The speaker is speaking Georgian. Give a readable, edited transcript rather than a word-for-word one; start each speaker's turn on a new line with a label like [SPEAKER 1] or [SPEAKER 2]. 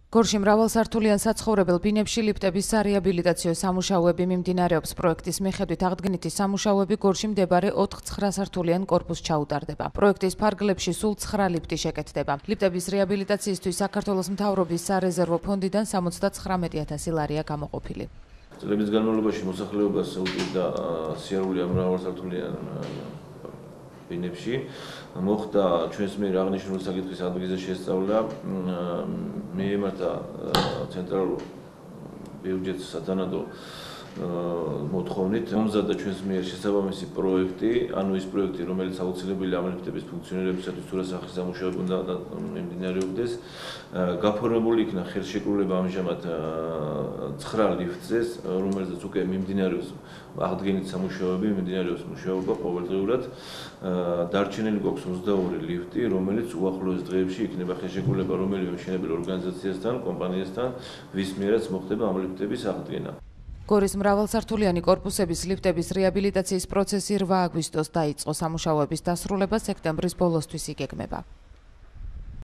[SPEAKER 1] გორში მრავალსართულიან საცხოვრებელ ბინებში ლიფტების სარეაბილიტაციო სამუშაოები მიმდინარეობს. პროექტის მიხედვით აღდგენითი სამუშაოები გორში მდებარე 4-9 სართულიან კორპუსს ჩაუტარდება. პროექტის ფარგლებში სულ 9 ლიფტი შეკეთდება. ლიფტების რეაბილიტაციისთვის საქართველოს მთავრობის სარეზერვო ფონდიდან 79,000 ლარია გამოყოფილი.
[SPEAKER 2] წლების განმავლობაში მოსახლეობას უჭირდა სიარული მრავალსართულიან ბინებში. მოხდა ჩვენს მიერ აღნიშნული საკითხის ადგილზე შესწავლა, მიემართა ცენტრალურ ბიუჯეტს სათანადო მოთხოვნით მომზადდა ჩვენს მიერ შესაბამისი პროექტი, ანუ ის პროექტი, რომელიც აუცილებელი ამ ლიფტების ფუნქციონირებისათვის თუ რა სახის სამუშაოები უნდა მიმდინარეობდეს, გაფორმებული იქნა ხელშეკრულება ამჟამად 9 ლიფტზე, რომელზეც უკვე მიმდინარეობს აღდგენითი სამუშაოები, მიმდინარეობს მუშაობა ყოველდღიურად. დარჩენილი გვაქვს 22 ლიფტი, რომელიც უახლოეს დღეებში იქნება ხელშეკრულება რომელიმე მშენებელ ორგანიზაციასთან, კომპანიასთან, ვის მიერაც მოხდება ამ ლიფტების აღდგენა.
[SPEAKER 1] გორის მრავალსართულიანი კორპუსების ლიფტების რეაბილიტაციის პროცესი 8 აგვისტოს დაიწყო. სამუშაოების დასრულება სექტემბრის ბოლოსთვის იგეგმება.